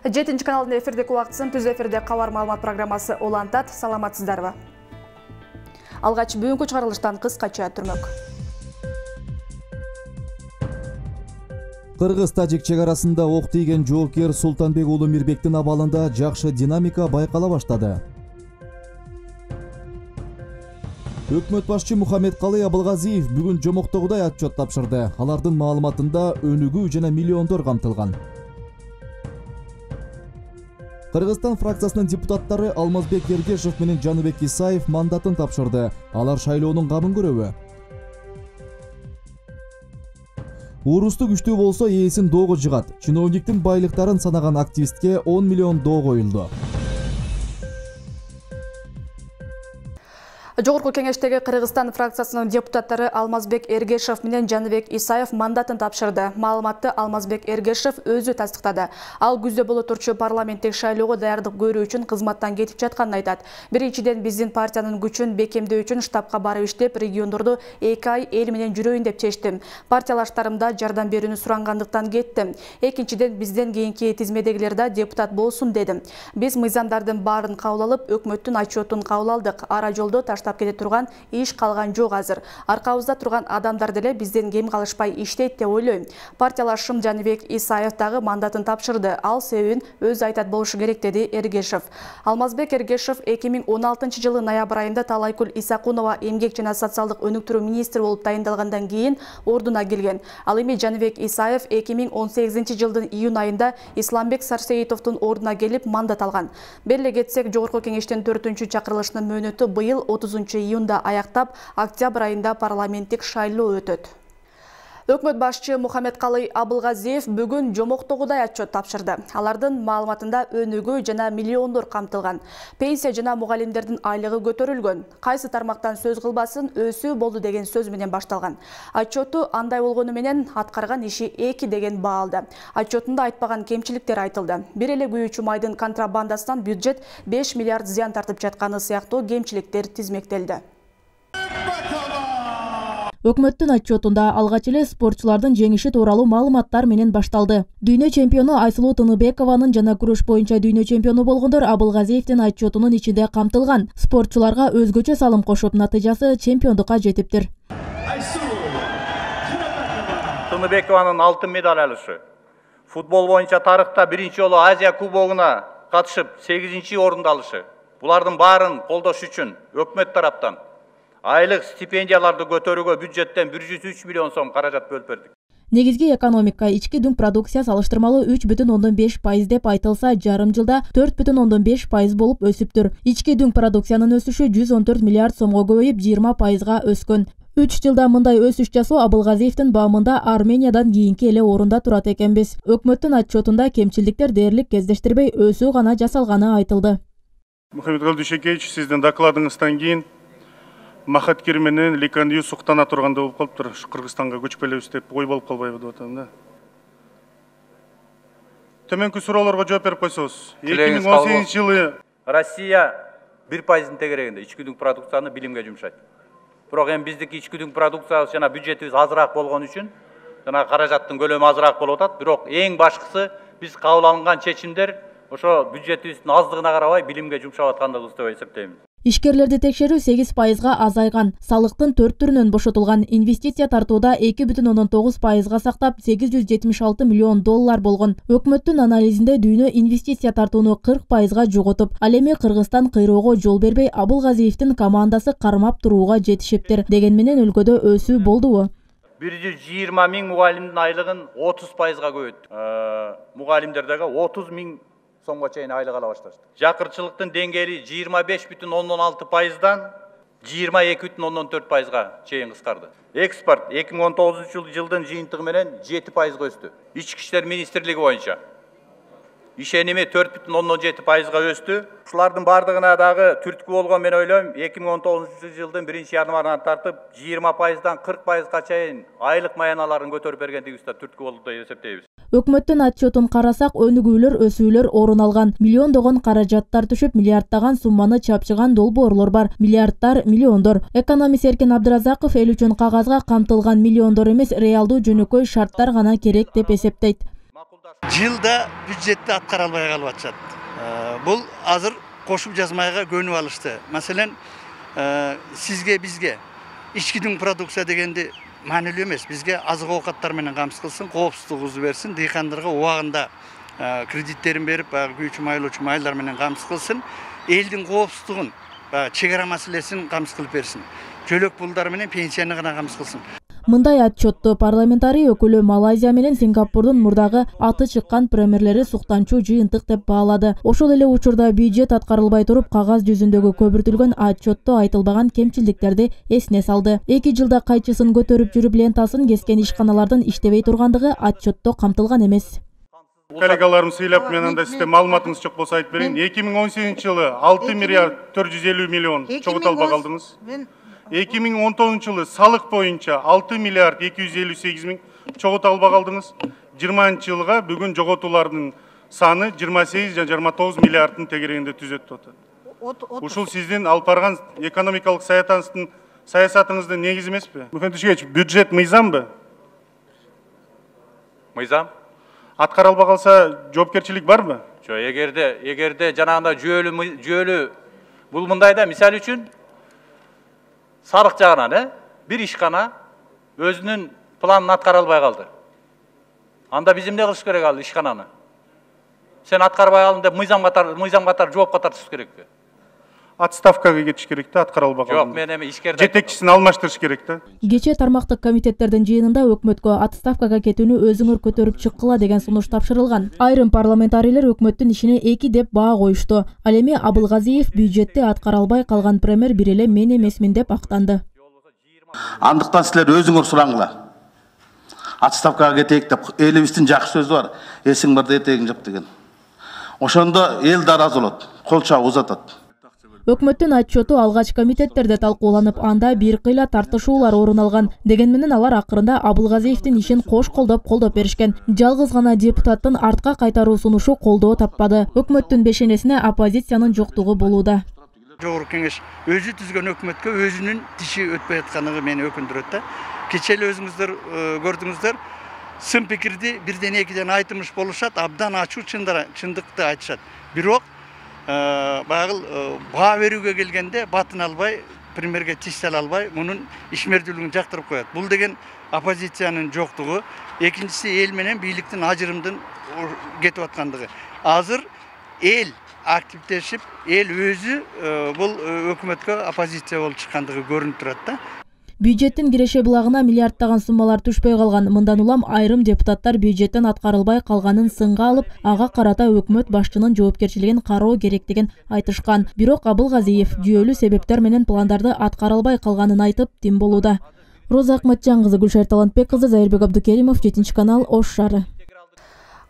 7 каналдын эфирдеги убактысын түз эфирде кабар маалымат программасы улантат. Саламатсыздарбы? Алгач бүгүнкү чыгарылыштан кыскача түрмөк. Кыргыз-Тажик чек арасында ок тийген жоокер Султанбек уулу Мирбектин абалында жакшы динамика байкала баштады. Өкмөт башчы Мухаммедкалый Абылгазиев бүгүн жомоктогудай отчет тапшырды. Алардын маалыматында өнүгүү жана миллиондор камтылган. Кыргызстан фракциясынын депутаттары Алмазбек Эргешев менен Жаныбек Исаев мандатын тапшырды. Алар шайлоонун камын көрөбү? Урусту күчтүү болсо ээсин доого жыгат. Чиновниктин байлыктарын санаган активистке 10 миллион доо коюлду. Жогорку кеңештеги Кыргызстан фракциясынын депутаттары Алмазбек Эргешев менен Жаныбек Исаев мандатын тапшырды. Маалыматты Алмазбек Эргешев өзү тастыктады. Ал күздө боло турчу парламенттик шайлоого даярдык көрүү үчүн кызматтан кетип жатканын айтат. Биринчиден биздин партиянын күчүн бекемдөө үчүн штабка барып иштеп, региондорду 2 ай эл менен жүрөйүн деп чечтим. Партиялаштарымда жардам берүүнү сурангандыктан кеттим. Экинчиден бизден кийинки тизмедегилер да депутат болсун дедим. Биз мыйзамдардын баарын кабыл алып, өкмөттүн отчетун кабыл алдык. Ара жолдо таштап кете турган иш калган жок азыр. Аркабызда турган адамдар деле бизден кем калышпай иштейт деп ойлойм. Партиялашым Жаныбек Исаев дагы мандатын тапшырды. Ал себебин өзү айтат болушу керек, деди Эргешев. Алмазбек Эргешев 2016 жылы ноябрь айында Талайкүл Исакунова эмгек жана социалдык өнүктүрүү министри болуп тайындалгандан кийин ордуна келген. Ал эми Жаныбек Исаев 2018 жылдын июнь айында Исламбек Сарсеитовдун ордуна келип мандат алган. Беле кетсек, жогорку кеңештин 4-чү чакырылышынын мөөнөтү быйыл 30 июнда аяктап, октябрь айында парламенттик шайлоо өтөт. Өкмөт башчы Мухаммедкалый Абылгазиев бүгүн жомоктогудай отчет тапшырды. Алардын маалыматында өнүгүү жана миллиондор камтылган. Пенсия жана мугалимдердин айлыгы көтөрүлгөн. Кайсы тармактан сөз кылбасын өсүү болду деген сөз менен башталган. Отчету андай болгону менен аткарган иши 2 деген баа алды. Отчетунда айтпаган кемчиликтер айтылды. Бир эле күйүүчү майдын контрабандасынан бюджет 5 миллиард зыян тартып жатканы сыяктуу кемчиликтер тизмектелди. Өкмөттүн отчетунда алгач эле спортчулардын жеңиши тууралуу маалыматтар менен башталды. Дүйнө чемпиону Айсулуу Тыныбекованын жана күрөш боюнча дүйнө чемпиону болгондор Абылгазиевдин отчетунун ичинде камтылган. Спортчуларга өзгөчө салым кошуп, натыйжасы чемпиондукка жетиптир. Тыныбекованын алтын медаль алышы, футбол боюнча тарыхта биринчи жолу Азия кубогуна катышып 8-чи орунду алышы. Булардын баарын колдош үчүн өкмөт тараптан айлык стипендияларды көтөрүүгө бюджеттен 103 миллион сом каражат бөлүп бердик. Негизги экономика ички дүң продукция салыштырмалуу 3,5% деп айтылса, жарым жылда 4,5% болуп өсүптүр. Ички дүң продукциянын өсүшү 114 миллиард сомго көбөйүп 20%га өскөн. 3 жылда мындай өсүш жасоо Абылгазиевдин баамында Армениядан кийинки эле орунда турат экенбиз. Өкмөттүн отчетунда кемчиликтер дээрлик кездештирбей өсүү гана жасалганы айтылды. Мухаммедкалый Дүйшекеевич, сиздин докладыңыздан кийин Махаткир менен Ликандию суктана турганда болуп калыптыр. Кыргызстанга көчүп келебиз деп ой болуп калбайбы деп атам да. Төмөнкү суроолорго жооп берип койсоңуз. 2018 жылы Россия 1%-ын тегерегинде ички дүң продукцияны билимге жумшайт. Бирок эми биздики ички дүң продукциябыз жана бюджетибиз азыраак болгон үчүн жана каражаттын көлөмү азыраак болуп атат. Бирок эң башкысы биз кабыл алынган чечимдер ошо бюджетибиздин аздыгына карабай билимге жумшап аткандыгыбызды деп эсептейм. Ишкерлерди текшерүү 8%га азайган, салыктын 4 түрүнөн бошотулган, инвестиция тартууда 2,9%га сактап 876 миллион доллар болгон. Өкмөттүн анализинде дүйнө инвестиция тартууну 40%га жоготуп, ал эми Кыргызстан кыйроого жол бербей Абылгазиевдин командасы кармап турууга жетишиптир. Деген менен өлкөдө өсүү болдубу? 120 миң мугалимдин айлыгын 30%га көбөйттүк. Мугалимдердеги 30 миң сомго чейин айлык ала башташты. Жакырчылыктын деңгээли 25,6%дан 22,4%га чейин кыскарды. Экспорт 2019 жылдын жыйынтыгы менен 7%га өстү. Ички иштер министрлиги боюнча ишеними 4,7%га өстү. Ушулардын бардыгына дагы түрткү болгон мен ойлойм, 2019 жылдын 1-январынан тартып 20%дан 40%га чейин айлык маяналарын көтөрүп бергендигибиз да түрткү болду деп эсептейбиз. Өкмөттүн отчетун карасак, өнүгүүлөр, өсүүлөр орун алган. Миллиондогон каражаттар түшүп, миллиарддаган сумманы чапчыган долбоорлор бар. Миллиарддар, миллиондор. Экономист Эркин Абдыразаков эл үчүн кагазга камтылган миллиондор эмес, реалдуу жөнөкөй шарттар гана керек деп эсептейт. Жылда бюджетти аткара албай калып атышат. Бул азыр кошуп жазмайга көнүп алышты. Маселен, сизге бизге ички дүң продукция дегенди маанилүү эмес. Бизге азык оокаттар менен камсыз кылсын, коопсуздугубузду берсин, дыйкандарга убагында кредиттерин берип, күйүүчү майлоочу майлар менен камсыз кылсын, элдин коопсуздугун, чек ара маселесин камсыз кылып берсин. Жөлөк пулдар менен пенсияны гана камсыз кылсын. Мындай отчетту парламентарий өкүлү Малайзия менен Сингапурдун мурдагы аты чыккан премьерлери суктанчуу жыйынтык деп баалады. Ошол эле учурда бюджет аткарылбай туруп кагаз жүзүндөгү көбүртүлгөн отчетту айтылбаган кемчилдиктерди эсине салды. 2 жылда кайчысын көтөрүп жүрүп лентасын кескен ишканалардын иштебей тургандыгы отчетто камтылган эмес. Коллегаларым сыйлап мен анда сизде маалыматыңыз жок болсо айтып берейин. 2018-жылы 6 миллиард 450 миллион чогулталбай калдыңыз. 2019-жылы салык боюнча 6 миллиард 258 миң чогулталбай калдыңыз. 20-жылга бүгүн жоготуулардын саны 28 жана 29 миллиарддын тегерегинде түзөт атат. Ушул сиздин алып барган экономикалык саясатыңыздын негизи эмеспи? Мухаммед Тушкевич, бюджет мыйзамбы? Мыйзам. Аткара албай калса жоопкерчилик барбы? Жок, эгерде жанагындай жүйөлүү бул мындайда, мисал үчүн сарык жагынан бир ишкана өзүнүн планын аткара албай калды. Анда биз эмне кылыш керек ал ишкананы? Сен аткарбай калдың деп мыйзам катары жоопко тартыш керекпи? Отставкага кетиш керек да, аткара албай калды. Жок, мен эми ишкерде жетекчисин алмаштырыш керек да. Кечээ тармактык комитеттердин жыйынында өкмөткө отставкага кетүүнү өзүңөр көтөрүп чыккыла деген сунуш тапшырылган. Айрым парламентарийлер өкмөттүн ишине 2 деп баа коюшту. Ал эми Абылгазиев бюджетти аткара албай калган премьер бир эле мен эмесмин деп актанды. Андыктан силер өзүңөр сураңла. Отставкага кетейик деп элибиздин жакшы сөзү бар. Эсиң барда этегиң жап деген. Ошондо эл да ыраазы болот, кол чабып узатат. Өкмөттүн отчету алгач комитеттерде талкууланып, анда бир кыйла тартышуулар орун алган. Деген менен алар акырында Абылгазиевдин ишин кош колдоп беришкен. Жалгыз гана депутаттын артка кайтаруу сунушу колдоо таппады. Өкмөттүн бешенесине оппозициянын жоктугу болууда. Жогорку кеңеш өзү түзгөн өкмөткө өзүнүн тиши өтпөй аткандыгы мени өкүндүрөт да. Кечээ эле өзүңүздөр көрдүңүздөр, сын пикирди бирден экиден айтымыш болушат, абдан ачуу чындыкты айтышат. Бирок багыл баа берүүгө келгенде батын албай, премьерге тиш сала албай, мунун ишмердүүлүгүн жактырып коет. Бул деген оппозициянын жоктугу, экинчиси эл менен бийликтин ажырымдын кетип аткандыгы. Азыр эл активдешип, эл өзү бул өкмөткө оппозиция болуп чыккандыгы көрүнүп турат да. Бюджеттин киреше булагына миллиардтаган суммалар түшпөй калган. Мындан улам айрым депутаттар бюджеттен аткарылбай калганын сынга алып, ага карата өкмөт башчынын жоопкерчилигин кароо керектигин айтышкан. Бирок Абылгазиев жүйөлүү себептер менен пландарды аткара албай калганын айтып, тим болууда. Роза Акматжан кызы, Гүлшер Талантбек кызы, Зайырбек Абдукеримов, 7-канал, Ош шаары.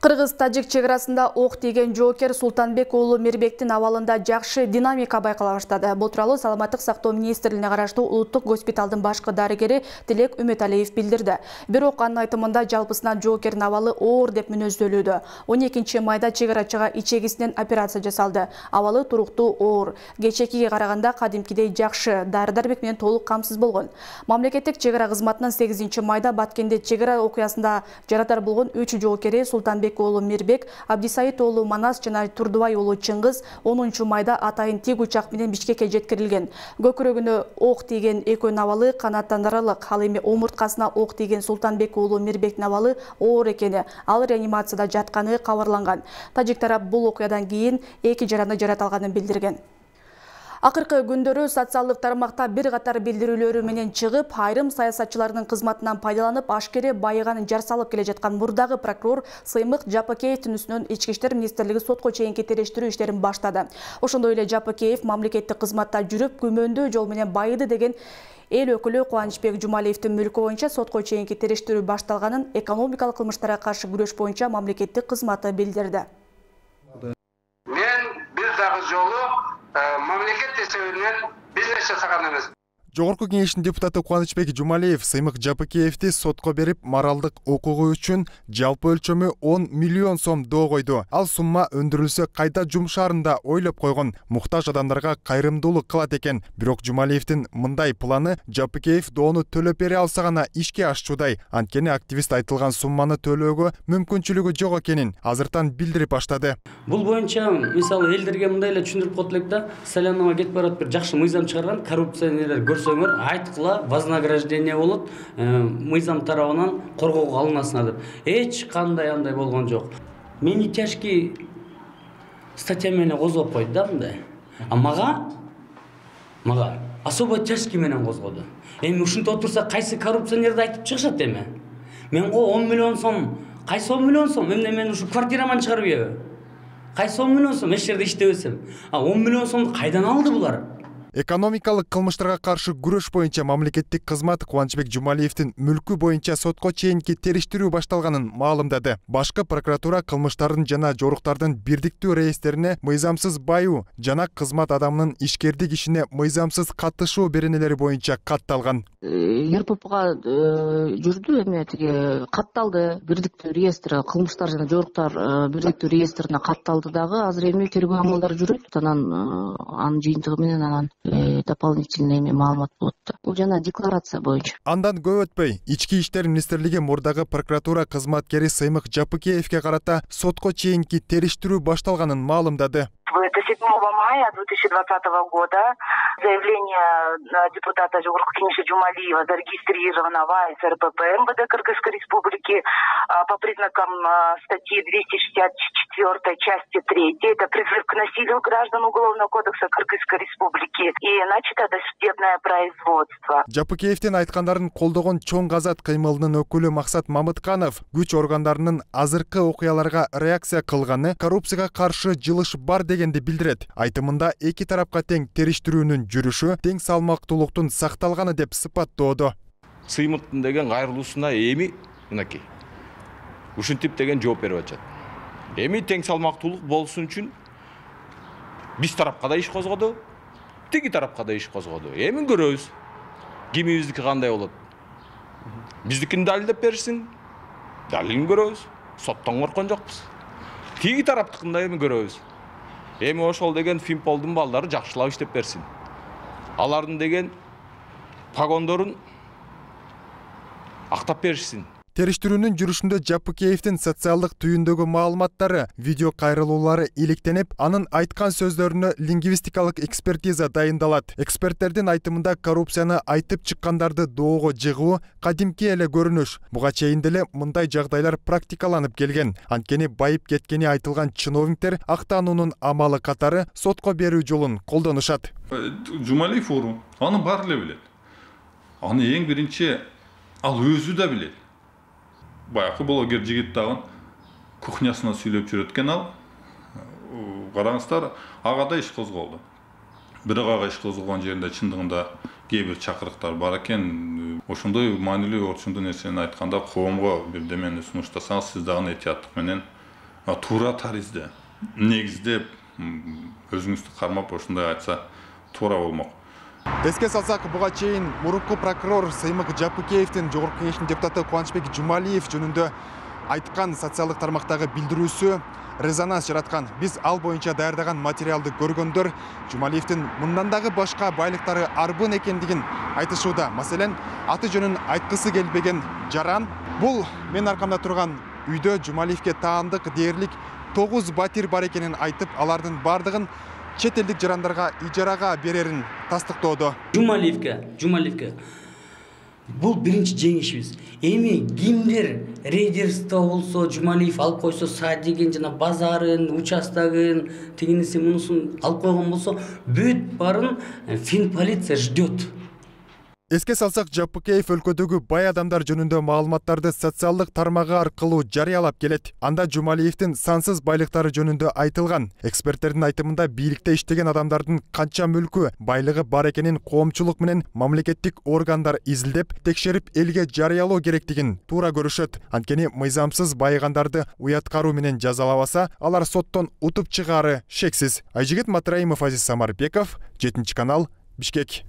Кыргыз-Тажик чек-арасында ок тийген жоокер Султанбек уулу Мирбектин абалында жакшы динамика байкала баштады. Бул тууралуу Саламаттык сактоо министрлигине караштуу Улуттук госпиталдын башкы дарыгери Тилек Үмөталиев билдирди. Бирок анын айтымында жалпысынан жоокердин абалы оор деп мүнөздөлүүдө. 12-майда чек-арачыга ичегисинен операция жасалды. Абалы туруктуу оор. Кечекиге караганда кадимкидей жакшы, дары-дармек менен толук камсыз болгон. Мамлекеттик чек-ара кызматынын 8-майда Баткенде чек-ара окуясында жарадар болгон 3 жоокери Султанбек уулу Мирбек, Абдисайыт уулу Манас жана Турдубай уулу Чыңгыз 10-майда атайын тик учак менен Бишкекке жеткирилген. Көкүрөгүнө ок тийген экөөнүн абалы канааттанарлык. Ал эми омурткасына ок тийген Султанбек уулу Мирбектин абалы оор экени, ал реанимацияда жатканы кабарланган. Тажик тарап бул окуядан кийин 2 жараны жараталганын билдирген. Акыркы күндөрү социалдык тармакта бир катар билдирүүлөрү менен чыгып, айрым саясатчылардын кызматынан пайдаланып, ашкере байыганын жар салып келе жаткан мурдагы прокурор Сыймык Жапакеевдин үстүнөн Ички иштер министрлиги сотко чейинки териштирүү иштерин баштады. Ошондой эле Жапакеев мамлекеттик кызматта жүрүп, күмөндүү жол менен байыды деген эл өкүлү Кубанычбек Жумалиевдин мүлкү боюнча сотко чейинки териштирүү башталганын экономикалык кылмыштарга каршы күрөш боюнча мамлекеттик кызматы билдирди. Мен бир дагы жолу мамлекет эсебинен бизнес жасаган эмес. Жогорку кеңештин депутаты Кубанычбек Жумалиев Сыймык Жапыкеевди сотко берип, моралдык укугу үчүн жалпы өлчөмү 10 миллион сом доо койду. Ал сумма өндүрүлсө кайда жумшаарын да ойлоп койгон, муктаж адамдарга кайрымдуулук кылат экен. Бирок Жумалиевдин мындай планы Жапыкеев доону төлөп бере алса гана ишке ашчудай. Анткени активист айтылган сумманы төлөөгө мүмкүнчүлүгү жок экенин азыртан билдирип баштады. Бул боюнча мисалы элдерге мындай эле түшүндүрүп коет элек да, Салянова кетип барат, бир жакшы мыйзам чыгарган, коррупционерлер көрсөңөр айткыла вознаграждение болот, мыйзам тарабынан коргоого алынасыңар деп. Эч кандай андай болгон жок. Мени тяжкий статья менен козгоп койду да мындай. А мага особо тяжкий менен козгоду. Эми ушинтип отурса кайсы коррупционерди айтып чыгышат эми? Мен 10 миллион сом, кайсы 10 миллион сом? Эмне мен ушу квартираман чыгарып ийби? Кайсы 10 миллион сом? Эч жерде иштебесем. 10 миллион сомду кайдан алды булар? Экономикалык кылмыштарга каршы күрөш боюнча мамлекеттик кызмат Кубанычбек Жумалиевдин мүлкү боюнча сотко чейинки териштирүү башталганын маалымдады. Башкы прокуратура кылмыштардын жана жоруктардын бирдиктүү реестрине мыйзамсыз баюу жана кызмат адамынын ишкердик ишине мыйзамсыз катышуу беренелери боюнча катталган. РППга жүрдү, эме тиги катталды. Бирдиктүү реестри, кылмыштар жана жоруктар бирдиктүү реестрине катталды дагы. Азыр эми тергөө амалдары жүрөт. Анын жыйынтыгы менен анан дополнительный маалымат болот. Бул жана декларация боюнча. Андан көп өтпөй, Ички иштер министрлиги мурдагы прокуратура кызматкери Сыймык Жапыкеевге карата сотко чейинки териштирүү башталганын маалымдады. Это 7 мая 2020 года заявление депутата Жогорку кеңеши Жумалиева зарегистрировано в РПП МВД Кыргызской Республики по признакам статьи 264 части 3. Это призыв к насилию граждан Уголовного кодекса Кыргызской Республики. И начато досудебное производство. Жапыкеевдин айткандарын колдогон Чоң Казат кыймылынын өкүлү Максат Мамытканов күч органдарынын азыркы окуяларга реакция кылганы коррупцияга каршы жылыш бар дегенди билдирет. Айтымында эки тарапка тең териштирүүнүн жүрүшү, тең салмактуулуктун сакталганы деп сыпаттоодо. Сыймыктын деген кайрылуусуна эми мынакей ушинтип деген жооп берип атышат. Эми тең салмактуулук болсун үчүн биз тарапка да иш козгоду, тиги тарапка да иш козгоду. Эми көрөбүз кимибиздики кандай болот. Биздикин далилдеп беришсин, далилин көрөбүз. Соттон корккон жокпуз. Тиги тараптыкында эми көрөбүз. Эми ошол деген Фимполдун балдары жакшылап иштеп берсин. Алардын деген погондорун актап беришсин. Териштирүүнүн жүрүшүндө Жапыкеевдин социалдык түйүндөгү маалыматтары, видео кайрылуулары иликтенип, анын айткан сөздөрүнө лингвистикалык экспертиза дайындалат. Эксперттердин айтымында коррупцияны айтып чыккандарды доого жыгуу кадимки эле көрүнүш. Буга чейин деле мындай жагдайлар практикаланып келген. Анткени байып кеткени айтылган чиновниктер актануунун амалы катары сотко берүү жолун колдонушат. Жумалиев форум аны баары эле билет. Аны эң биринчи ал өзү да билет. Баякы блогер жигит дагы кухнясына сүйлөп жүрөт экен ал. Караңыздар, ага да иш козголду. Бирок ага иш козголгон жеринде чындыгында кээ бир чакырыктар бар экен. Ошондой маанилүү орчундуу нерсени айтканда коомго бирдемени сунуштасаңыз, сиз дагы этияттык менен туура таризде негиздеп өзүңүздү кармап ошондой айтса туура болмок. Эске салсак, буга чейин мурунку прокурор Сыймык Жапыкеевдин Жогорку кеңештин депутаты Кубанычбек Жумалиев жөнүндө айткан социалдык тармактагы билдирүүсү резонанс жараткан. Биз ал боюнча даярдаган материалды көргөндөр Жумалиевдин мындан дагы башка байлыктары арбын экендигин айтышууда. Маселен, аты жөнүн айткысы келбеген жаран. Бул мен аркамда турган үйдө Жумалиевге таандык дээрлик 9 батир бар экенин айтып, алардын бардыгын чет элдик жарандарга ижарага берерин тастыктоодо. Жумалиевге бул биринчи жеңишибиз. Эми кимдир рейдерство болсо, Жумалиев алып койсо, садигин жана базарын, участогын, тигинисин мунусун алып койгон болсо, бүт барын Финполиция ждет. Эске салсак, Жапыкеев өлкөдөгү бай адамдар жөнүндө маалыматтарды социалдык тармагы аркылуу жарыялап келет. Анда Жумалиевдин сансыз байлыктары жөнүндө айтылган. Эксперттердин айтымында бийликте иштеген адамдардын канча мүлкү, байлыгы бар экенин коомчулук менен мамлекеттик органдар изилдеп, текшерип элге жарыялоо керектигин туура көрүшөт. Анткени мыйзамсыз байыгандарды уяткаруу менен жазалабаса, алар соттон утуп чыгаары шексиз. Айжигит Матраимов, Азиз Самарбеков, 7 канал, Бишкек.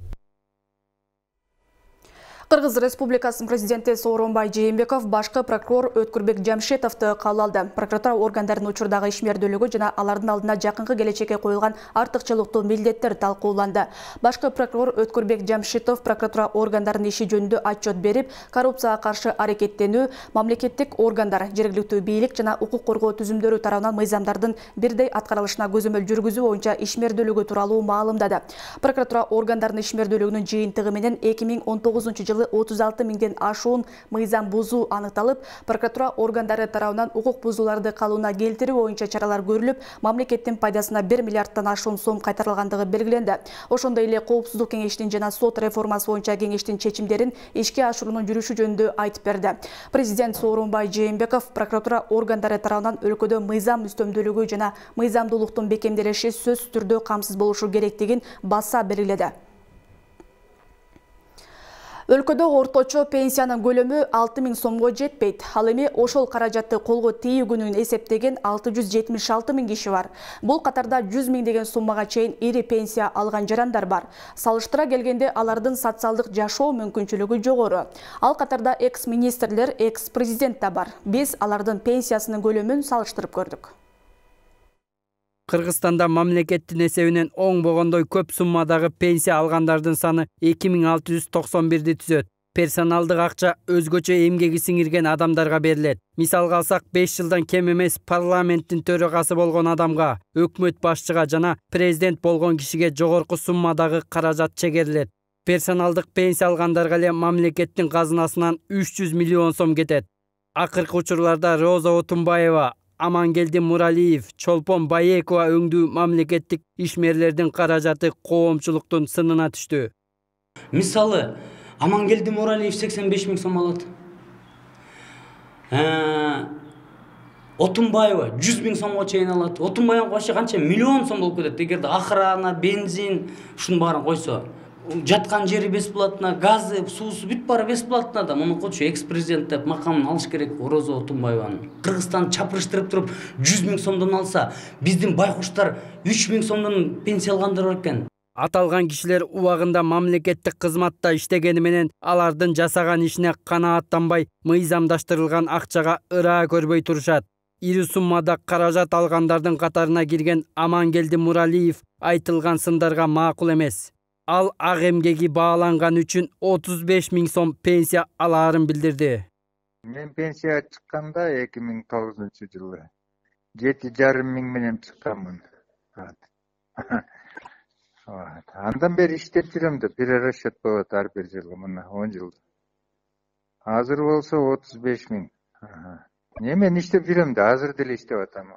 Кыргыз Республикасынын президенти Сооронбай Жээнбеков башкы прокурор Өткүрбек Жамшитовду кабыл алды. Прокуратура органдарынын учурдагы ишмердүүлүгү жана алардын алдына жакынкы келечекке коюлган артыкчылыктуу милдеттер талкууланды. Башкы прокурор Өткүрбек Жамшитов прокуратура органдарынын иши жөнүндө отчет берип, коррупцияга каршы аракеттенүү, мамлекеттик органдар, жергиликтүү бийлик жана укук коргоо түзүмдөрү тарабынан мыйзамдардын бирдей аткарылышына көзөмөл жүргүзүү боюнча ишмердүүлүгү тууралуу маалымдады. Прокуратура органдарынын ишмердүүлүгүнүн жыйынтыгы менен 2019 36 миңден ашуун мыйзам бузуу аныкталып, прокуратура органдары тарабынан укук бузууларды калууна келтирүү боюнча чаралар көрүлүп, мамлекеттин пайдасына 1 миллиардтан ашуун сом кайтарылгандыгы белгиленди. Ошондой эле Коопсуздук кеңешинин жана сот реформасы боюнча кеңештин чечимдерин ишке ашыруунун жүрүшү жөнүндө айтып берди. Президент Сооронбай Жээнбеков прокуратура органдары тарабынан өлкөдө мыйзам үстөмдүүлүгү жана мыйзамдуулуктун бекемделиши сөзсүз түрдө камсыз болушу керектигин баса белгиледи. Өлкөдө орточо пенсиянын көлөмү 6 000 сомго жетпейт. Ал эми ошол каражатты колго тийүүгүнүн эсептеген 676 000 киши бар. Бул катарда 100 000 деген суммага чейин ири пенсия алган жарандар бар. Салыштыра келгенде алардын социалдык жашоо мүмкүнчүлүгү жогору. Ал катарда экс-министрлер, экс-президент да бар. Биз алардын пенсиясынын көлөмүн салыштырып көрдүк. Кыргызстанда мамлекеттин эсебинен оңбогондой көп суммадагы пенсия алгандардын саны 2691 түзөт. Персоналдык акча өзгөчө эмгеги сиңирген адамдарга берилет. Мисалга алсак, 5 жылдан кем эмес парламенттин төрагасы болгон адамга, өкмөт башчыга жана президент болгон кишиге жогорку суммадагы каражат чегерилет. Персоналдык пенсия алгандарга эле мамлекеттин казынасынан 300 миллион сом кетет. Акыркы учурларда Роза Отунбаева, Амангелди Муралиев, Чолпон Баекова өңдүү мамлекеттик ишмерлердин каражаты коомчулуктун сынына түштү. Мисалы, Амангелди Муралиев 85 000 сом алат. Отунбаева 100 000 сомго чейин алат. Отунбаева коюшта канча миллион сом болуп кетет. Эгерде охрана, бензин, ушунун баарын койсо, жаткан жери бесплатно, газы, суусу бүт баары бесплатно да. Муну кочу экс-президент деп макамын алыш керек Роза Отунбаеванын. Кыргызстан чапырыштырып туруп 100 000 сомдон алса, биздин байкуштар 3 000 сомдон пенсия алгандар бар экен. Аталган кишилер убагында мамлекеттик кызматта иштегени менен алардын жасаган ишине канааттанбай, мыйзамдаштырылган акчага ыраа көрбөй турушат. Ири суммада каражат алгандардын катарына кирген Амангелди Муралиев айтылган сындарга макул эмес. Ал ак эмгеги бааланган үчүн 35 000 сом пенсия алаарын билдирди. Мен пенсияга чыкканда 2009-жылы 7,5 миң менен чыкканмын. Андан бери иштеп жүрөм да, перерасчет болот ар бир жылы, мына 10 жыл. Азыр болсо 35 000. Мен иштеп жүрөм да, азыр деле иштеп атам.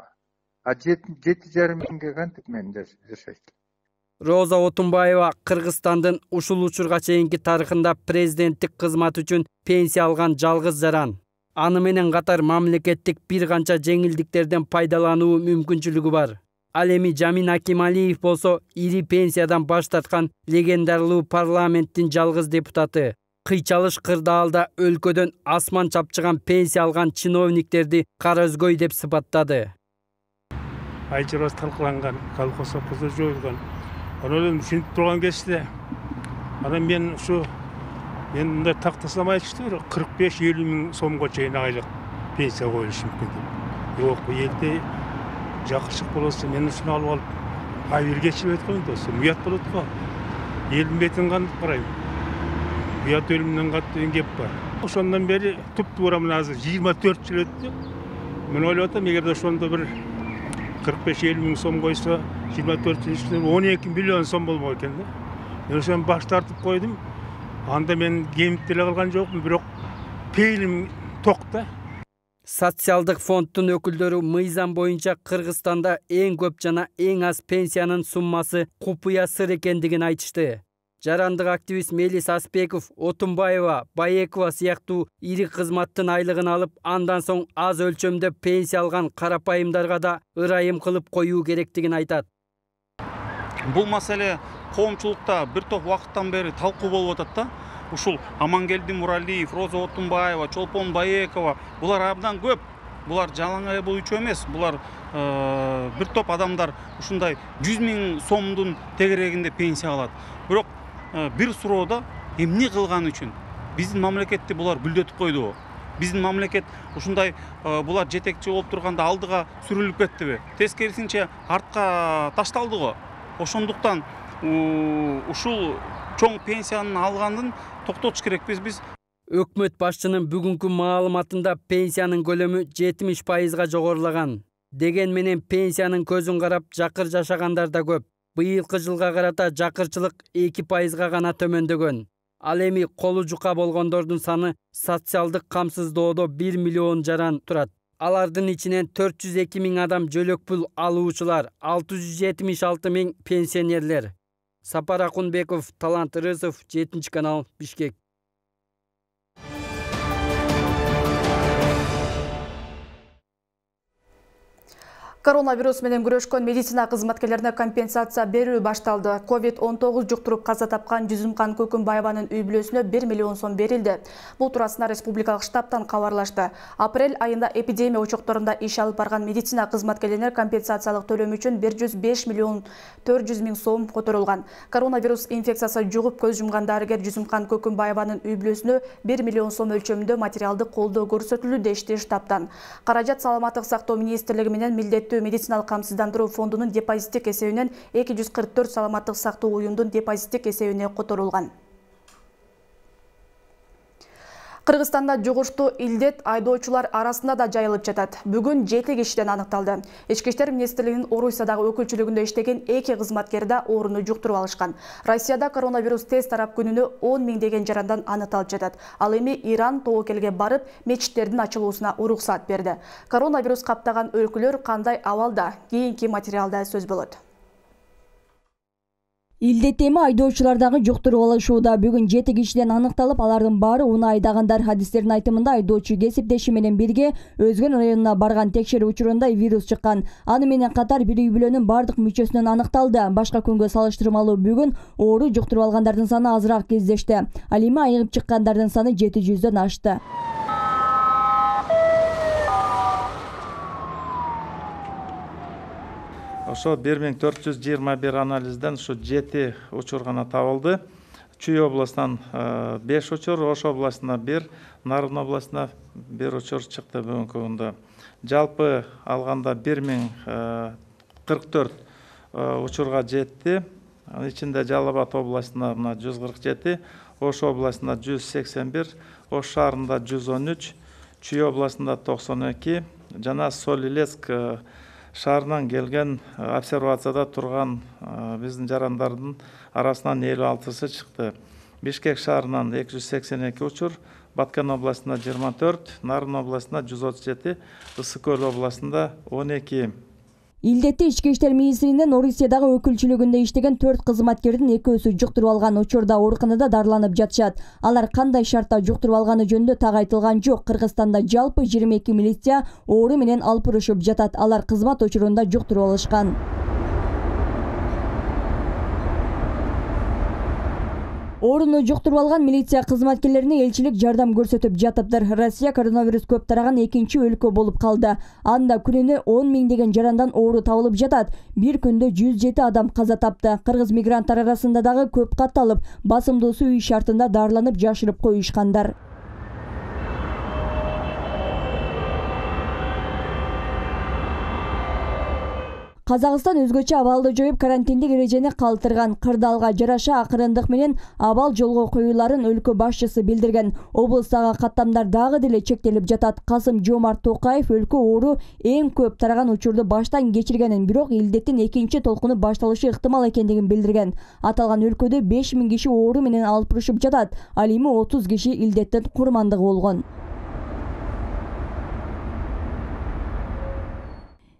7,5 миңге кантип мен жашайт. Роза Отунбаева Кыргызстандын ушул учурга чейинки тарыхында президенттик кызмат үчүн пенсия алган жалгыз жаран. Аны менен катар мамлекеттик бир канча жеңилдиктерден пайдалануу мүмкүнчүлүгү бар. Ал эми Жамин Акималиев болсо ири пенсиядан баш тарткан легендарлуу парламенттин жалгыз депутаты. Кыйчалыш кырдаалда өлкөдөн асман чапчыган пенсия алган чиновниктерди кара өзгөй деп сыпаттады. Айчырас талкаланган, колхоз сопкузу жоюлган. Анан ушинтип турган кезде, анан мен мындай тактасам айтыштыр, 45-50 миң сомго чейин айлык пенсия коюлушу мүмкүн деп. Жок, бу элде жакшылык болсо мен ушуну алып алып, ай бир кечирип өткөн досу, уят болот го. Элдин бетин кантип карайм? Уят өлүмүнөн катуу деген кеп бар. Ошондон бери туп-туура мына азыр 24 жыл өттү. Мен ойлоп атам, эгерде ошондо бир 45-50 миң сом койсо, 24 жыл ичинде 12 миллион сом болмок экен да. Мен ошону баш тартып койдум. Анда мен кемип деле калган жокмун, бирок пейилим токта. Социалдык фонддун өкүлдөрү мыйзам боюнча Кыргызстанда эң көп жана эң аз пенсиянын суммасы купуя сыр экендигин айтышты. Жарандык активист Мелис Аспеков, Отунбаева, Баекова сыяктуу ири кызматтын айлыгын алып, андан соң аз өлчөмдө пенсия алган карапайымдарга да ырайым кылып коюу керектигин айтат. Бул маселе коомчулукта бир топ убакыттан бери талкуу болуп атат да. Ушул Амангелди Муралиев, Роза Отунбаева, Чолпон Баекова, булар абдан көп. Булар жалаңай бул үчөө эмес, булар бир топ адамдар ушундай 100 000 сомдун тегерегинде пенсия алат. Бирок бир суроодо эмне кылган үчүн биздин мамлекетти булар гүлдөтүп койдубу? Биздин мамлекет ушундай булар жетекчи болуп турганда алдыга сүрүлүп кеттиби? Тескерисинче артка ташталды го. Ошондуктан ушул чоң пенсияны алгандын токтотуш керекпиз биз. Өкмөт башчынын бүгүнкү маалыматында пенсиянын көлөмү 70%га жогорулаган. Деген менен пенсиянын көзүн карап жакыр жашагандар да көп. Быйылкы жылга карата жакырчылык 2%га гана төмөндөгөн. Ал эми колу жука болгондордун саны социалдык камсыздоодо 1 миллион жаран турат. Алардын ичинен 402 000 адам жөлөк пул алуучулар, 676 000 пенсионерлер. Сапар Акунбеков, Талант Рысов, 7 канал, Бишкек. Коронавирус менен күрөшкөн медицина кызматкерлерине компенсация берүү башталды. COVID-19 жуктуруп каза тапкан Жүзүмкан Көкүмбаеванын үй бүлөсүнө 1 миллион сом берилди. Бул туурасында республикалык штабтан кабарлашты. Апрель айында эпидемия очокторунда иш алып барган медицина кызматкерлерине компенсациялык төлөм үчүн 105 миллион 400 000 сом которулган. Коронавирус инфекциясы жугуп көз жумган дарыгер Жүзүмкан Көкүмбаеванын үй бүлөсүнө 1 миллион сом өлчөмүндө материалдык колдоо көрсөтүлдү дешти штабтан. Каражат Саламаттык сактоо министрлиги менен милдеттүү медициналык камсыздандыруу фондунун депозиттик эсебинен 244 саламаттык сактоо уюмдун депозиттик эсебине которулган. Кыргызстанда жугуштуу илдет айдоочулар арасында да жайылып жатат. Бүгүн 7 кишиден аныкталды. Ички иштер министрлигинин Орусиядагы өкүлчүлүгүндө иштеген 2 кызматкер да ооруну жуктуруп алышкан. Россияда коронавирус тест тарап күнүнө 10 000 деген жарандан аныкталып жатат. Ал эми Иран тобокелге барып, мечиттердин ачылуусуна уруксат берди. Коронавирус каптаган өлкөлөр кандай абалда? Кийинки материалда сөз болот. Илдет эми айдоочулардагы жуктуруп алышууда. Бүгүн 7 кишиден аныкталып, алардын баары унаа айдагандар. Адистердин айтымында айдоочу кесиптеши менен бирге Өзгөн районуна барган текшерүү учурунда вирус чыккан. Аны менен катар бир үй бүлөнүн бардык мүчөсүнөн аныкталды. Башка күнгө салыштырмалуу бүгүн оору жуктуруп алгандардын саны азыраак кездешти. Ал эми айыгып чыккандардын саны 700дөн ашты. Ошо 1421 анализден ушу 7 учур гана табылды. Чүй областынан 5 учур, Ош областына 1, Нарын областына 1 учур чыкты бүгүнкү күндө. Жалпы алганда 1044 учурга жетти. Анын ичинде Жалал Абад областына 147, Ош областына 181, Ош шаарында 113, Чүй областында 92, жана Соль-Илецк шаарынан келген обсервацияда турган биздин жарандардын арасынан 56-сы чыкты. Бишкек шаарынан 282 учур, Баткен областында 24, Нарын областында 137, Ысык Көл областында 12. Илдетти ички иштер министринин Орусиядагы өкүлчүлүгүндө иштеген 4 кызматкердин экөөсү жуктуруп алган. Учурда ооруканада дарыланып жатышат. Алар кандай шартта жуктуруп алганы жөнүндө так айтылган жок. Кыргызстанда жалпы 22 милиция оору менен алпырышып жатат. Алар кызмат учурунда жуктуруп алышкан. Ооруну жуктуруп алган милиция кызматкерлерине элчилик жардам көрсөтүп жатыптыр. Россия коронавирус көп тараган экинчи өлкө болуп калды. Анда күнүнө 10 000 деген жарандан оору табылып жатат. Бир күндө 107 адам каза тапты. Кыргыз мигранттар арасында дагы көп катталып, басымдуусу үй шартында дарыланып жашырып коюшкандар. Казакстан өзгөчө абалды жоюп, карантиндик эрежени калтырган. Кырдаалга жараша акырындык менен абал жолго коюуларын өлкө башчысы билдирген. Облустагы каттамдар дагы деле чектелип жатат. Касым-Жомарт Токаев өлкө оору эң көп тараган учурду баштан кечиргенин, бирок илдеттин экинчи толкуну башталышы ыктымал экендигин билдирген. Аталган өлкөдө 5000 киши оору менен алпырышып жатат. Ал эми 30 киши илдеттин курмандыгы болгон.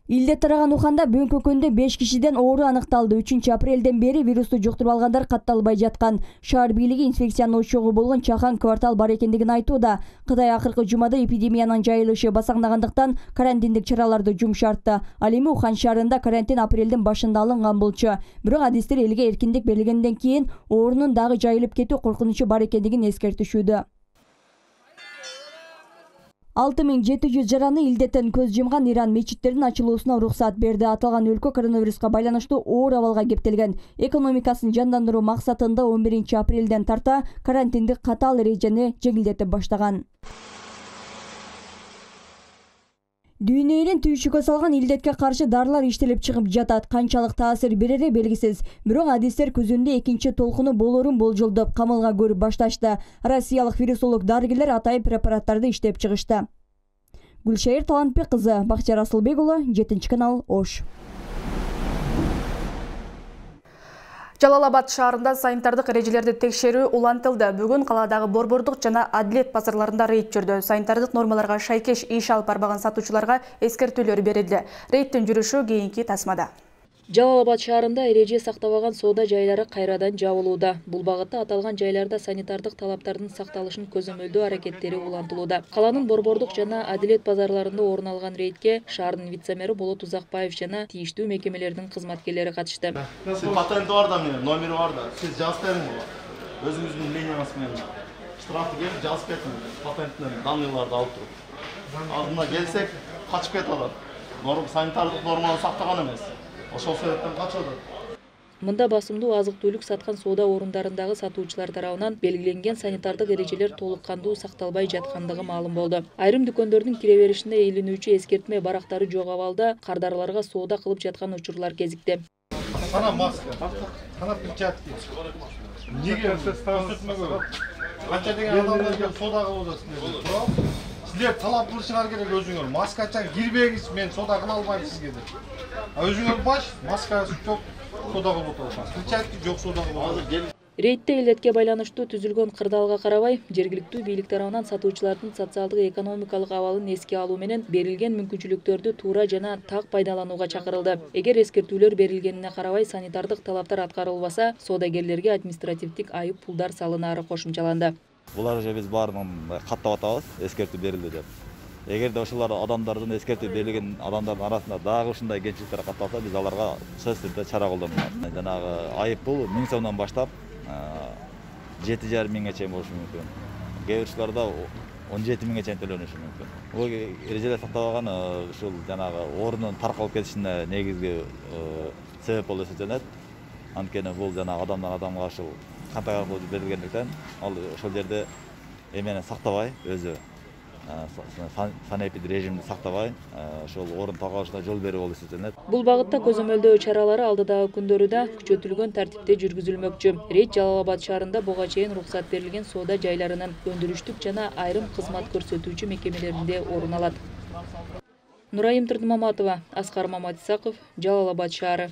Илдет тараган Уханда бүгүнкү күндө 5 кишиден оору аныкталды. 3 апрелден бери вирусту жуктуруп алгандар катталбай жаткан. Шаар бийлиги инфекциянын ошогу болгон Чахан квартал бар экендигин айтууда. Кытай акыркы жумада эпидемиянын жайылышы басаңдагандыктан карантиндик чараларды жумшартты. Ал эми Ухан шаарында карантин апрелдин башында алынган болчу. Бирок адистер элге эркиндик берилгенден кийин оорунун дагы жайылып кетүү коркунучу бар экендигин эскертишүүдө. 6700 жараны илдеттен көз жумган Иран мечиттердин ачылуусуна уруксат берди. Аталган өлкө коронавируска байланыштуу оор абалга кептелген. Экономикасын жандандыруу максатында 11 апрелден тарта карантиндик катаал эрежени жеңилдетип баштаган. Дүйнө элин түйшүккө салган илдетке каршы дарылар иштелип чыгып жатат. Канчалык таасир берери белгисиз. Бирок адистер күзүндө экинчи толкуну болорун болжолдоп камалга көрүп башташты. Россиялык вирусолог дарыгерлер атайын препараттарды иштеп чыгышты. Гүлшайыр Талантбек кызы, Бакчар Асылбек уулу, 7-канал, Ош. Жалалабад шаарында санитардык эрежелерди текшерүү улантылды. Бүгүн каладагы борбордук жана адилет базарларында рейд жүрдү. Санитардык нормаларга шайкеш иш алып барбаган сатуучуларга эскертүүлөр берилди. Рейдтин жүрүшү кийинки тасмада. Жалалабад шаарында эреже сактабаган соода жайлары кайрадан жабылууда. Бул багытта аталган жайларда санитардык талаптардын сакталышын көзөмөлдөө аракеттери улантылууда. Каланын борбордук жана адилет базарларында орун алган рейдке шаардын вице-мэри Болот Узакбаев жана тийиштүү мекемелердин кызматкерлери катышты. Сиз патенти бар да, номери бар да. Сиз жазып бериңиз. Өзүңүздүн линияңыз менен штрафты келип жазып кетиңиз. Патенттин данныйларды алып туруп. Алдына келсек, качып кетип алат. Санитардык норманы сактаган эмес. Ошол себептен качып атат. Мында басымдуу азык-түлүк саткан соода орундарындагы сатуучулар тарабынан белгиленген санитардык эрежелер толук кандуу сакталбай жаткандыгы маалым болду. Айрым дүкөндөрдүн кире беришинде илинүүчү эскертме барактары жок абалда кардарларга соода кылып жаткан учурлар кезикти. Кана маска, кана перчатки. Неге көрсөтмөгө? Канча деген адамдар келип соода кылып атасыңар. Сиздер талап кылышыңар керек өзүңөр. Маскачан кирбеңиз, мен соода кыла албайм сизге деп. Өзүңөр баш, маскасы жок, соода кылып атасыңар. Перчатки жок, соода кылып атасыңар. Рейдте илдетке байланыштуу түзүлгөн кырдаалга карабай, жергиликтүү бийлик тарабынан сатуучулардын социалдык экономикалык абалын эске алуу менен берилген мүмкүнчүлүктөрдү туура жана так пайдаланууга чакырылды. Эгер эскертүүлөр берилгенине карабай санитардык талаптар аткарылбаса, соодагерлерге административдик айып пулдар салынаары кошумчаланды. Булар же биз баарын каттап атабыз, эскертүү берилди деп. Эгерде ошолар адамдардын эскертүү берилген адамдардын арасында дагы ушундай кемчиликтер катталса, биз аларга сөзсүз түрдө чара колдонобуз. Жанагы айып пул 1000 сомдон баштап 7,5 миңге чейин болушу мүмкүн. Кээ бир учурларда 17 миңге чейин төлөнүшү мүмкүн. Бул эрежелер сактабаган ушул жанагы ордунун таркалып кетишине негизги себеп болуп эсептелет. Анткени бул жанагы адамдан адамга ушул кантак аркылуу берилгендиктен, ал ошол жерде эмени сактабай, өзү санэпид режимди сактабай, ошол орун таркалышына жол берүү болуп эсептелет. Бул багытта көзөмөлдөө чаралары алдыдагы күндөрү да күчөтүлгөн тартипте жүргүзүлмөкчү. Рейд Жалалабад шаарында буга чейин уруксат берилген соода жайларынын өндүрүштүк жана айрым кызмат көрсөтүүчү мекемелеринде орун алат. Нурайым Тырдымаматова, Аскар Маматисаков, Жалалабад шаары.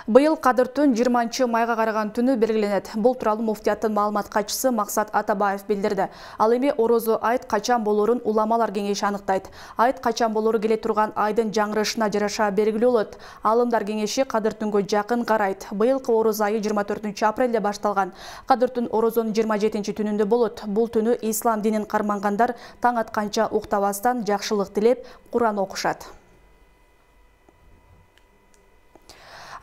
Быйыл Кадыр түн 20 майга караган түнү белгиленет. Бул тууралуу муфтияттын маалымат катчысы Максат Атабаев билдирди. Ал эми орозо айт качан болорун уламалар кеңеши аныктайт. Айт качан болору келе турган айдын жаңырышына жараша белгилүү болот. Алымдар кеңеши Кадыр түнгө жакын карайт. Быйылкы орозо айы 24 апрелде башталган. Кадыр түн орозонун 27 түнүндө болот. Бул түнү ислам динин кармангандар таң атканча уктабастан жакшылык тилеп Куран окушат.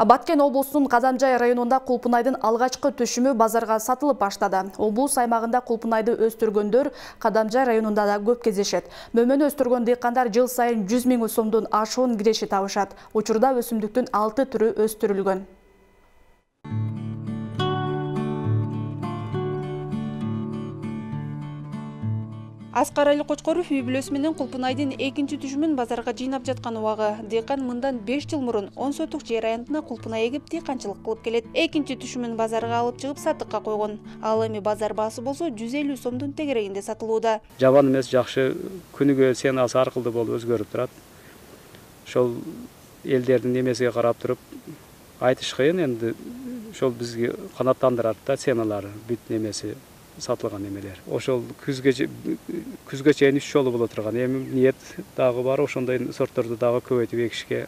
Баткен облусунун Кадамжай районунда кулпунайдын алгачкы түшүмү базарга сатылып баштады. Облус аймагында кулпунайды өстүргөндөр Кадамжай районунда да көп кездешет. Мөмөнү өстүргөн дыйкандар жыл сайын 100 000 сомдун ашуун киреши табышат. Учурда өсүмдүктүн 6 түрү өстүрүлгөн. Аскар Али Кочкоров үй бүлөсү менен кулпунайдын экинчи түшүмүн базарга жыйнап жаткан убагы. Дыйкан мындан 5 жыл мурун 10 сотук жер аянтына кулпунай эгип дыйканчылык кылып келет. Экинчи түшүмүн базарга алып чыгып сатыкка койгон. Ал эми базар баасы болсо 150 сомдун тегерегинде сатылууда. Жабан эмес, жакшы, күнүгө ценасы аркылуу болуп өзгөрүп турат. Ошол элдердин эмесиге карап туруп айтыш кыйын, энди ошол бизге канааттандырат да ценалары, бүт эмеси сатылган эмелер. Ошол күзгө чейин 3 жолу боло турган. Эми ниет дагы бар, ошондой сортторду дагы көбөйтүп экишке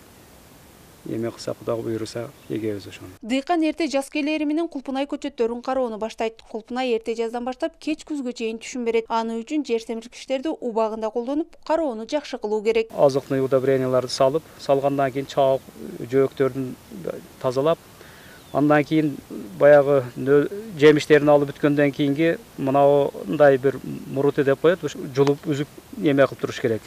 эме кылсак, Кудай буйруса, эгебиз ошону. Дыйкан эрте жаз келери менен кулпунай көчөттөрүн кароону баштайт. Кулпунай эрте жаздан баштап кеч күзгө чейин түшүм берет. Аны үчүн жер семирткичтерди убагында колдонуп, кароону жакшы кылуу керек. Азыктык удобренияларды салгандан кийин чаак жөөктөрдүн тазалап, андан кийин баягы жемиштерин алып бүткөндөн кийинги мындай бир мурути деп коет, жулуп үзүп эме кылып туруш керек.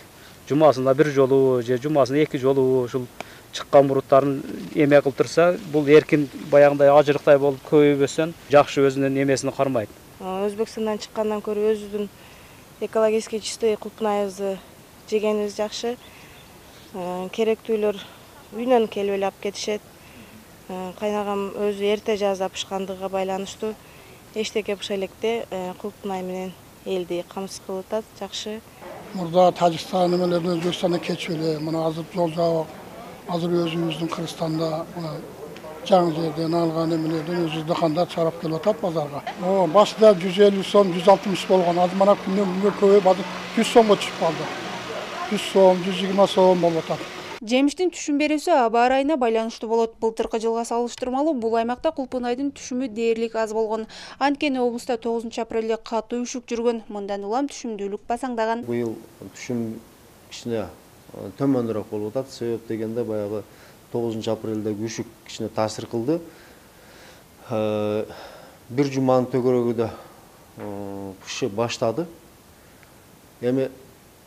Жумасында бир жолу же жумасында 2 жолу ушул чыккан муруттарын эме кылып турса, бул эркин баягындай ажырыктай болуп көбөйбөсөн жакшы өзүнүн эмесин кармайт. Өзбекстандан чыккандан көрө өзүбүздүн экологически чистой кулпунайыбызды жегенибиз жакшы. Керектүүлөр үйүнөн келип эле алып кетишет. Кайнагам өзү эрте жазда пышкандыгына байланыштуу эчтеке быша электе кулпунай менен элди камсыз кылып атат, жакшы. Мурда Тажикстан менен Өзбекстандан кечип эле мына азыр жол жабык, азыр өзүбүздүн Кыргызстанда жаңы жерден алган эмелерден өзүбүз дыкандар чыгарып келип атат базарга. Башында 150 сом, 160 болгон, азыр мына күндөн күнгө көбөйүп азыр 100 сомго чыгып калды. 100 сом, 120 сом болуп атат. Жемиштин түшүм берүүсү аба ырайына байланыштуу болот. Былтыркы жылга салыштырмалуу бул аймакта кулпунайдын түшүмү дээрлик аз болгон. Анткени облуста 9 апрелде катуу үшүк жүргөн. Мындан улам түшүмдүүлүк басаңдаган. Быйыл түшүм кичине төмөнүрөөк болуп атат. Себеп дегенде баягы 9 апрелдеги үшүк кичине таасир кылды. Бир жуманын төгөрөгүдө кышы баштады. Эми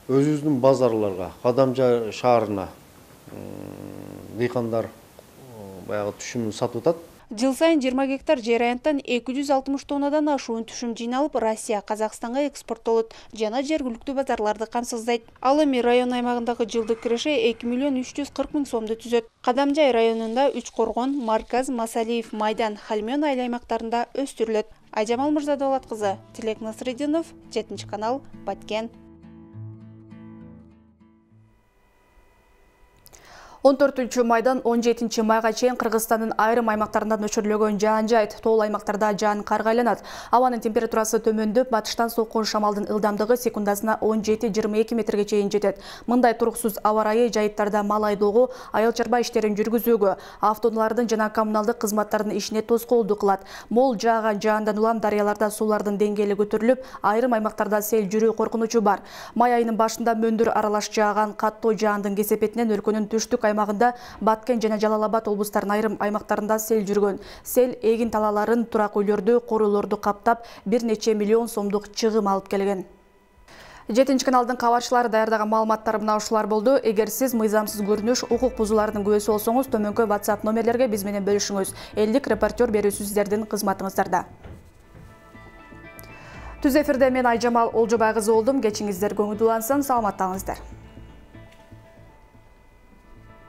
өзүбүздүн базарларга, Кадамжа шаарына дыйкандар баягы түшүмүн сатып атат. Жыл сайын 20 гектар жер аянттан 260 тоннадан ашуун түшүм жыйналып, Россия, Казакстанга экспорттолот жана жергиликтүү базарларды камсыздайт. Ал эми район аймагындагы жылдык киреше 2 миллион 340 миң сомду түзөт. Кадамжай районунда Үч Коргон, Марказ, Масалиев, Майдан, Хальмён айыл аймактарында өстүрүлөт. Айжамал Мырзадолат кызы, Тилек Насрединов, 7 канал, Баткен. 14 майдан 17 майга чейин Кыргызстандын айрым аймактарында нөчүрүлгөн жаан жайт. Тоол аймактарда жаан карга айланат. Абанын температурасы төмөндөп, батыштан соккон шамалдын ылдамдыгы секундасына 17-22 метрге чейин жетет. Мындай туруксуз аба ырайы жайыттарда мал айдоого, айыл чарба иштерин жүргүзүүгө, автоунаалардын жана коммуналдык кызматтардын ишине тоскоолдук кылат. Мол жааган жаандан улам дарыяларда суулардын деңгээли көтөрүлүп, айрым аймактарда сел жүрүү коркунучу бар. Май айынын башында мөндүр аралаш жааган каттуу жаандын кесепетинен өлкөнүн түштүк аймагында Баткен жана Жалал-Абад облустарынын айрым аймактарында сел жүргөн. Сел эгин талаларын, турак үйлөрдү, коруулорду каптап, бир нече миллион сомдук чыгым алып келген. 7 каналдын кабарчылары даярдаган маалыматтар мына ушулар болду. Эгер сиз мыйзамсыз көрүнүш, укук бузуулардын күбөсү болсоңуз, төмөнкү WhatsApp номерлерге биз менен бөлүшүңүз. Элдик репортер берүүсү сиздердин кызматыңыздарда. Түз эфирде мен Айжамал Олжобай кызы болдум. Кечиңиздер көңүл улансын, саламаттаңыздар.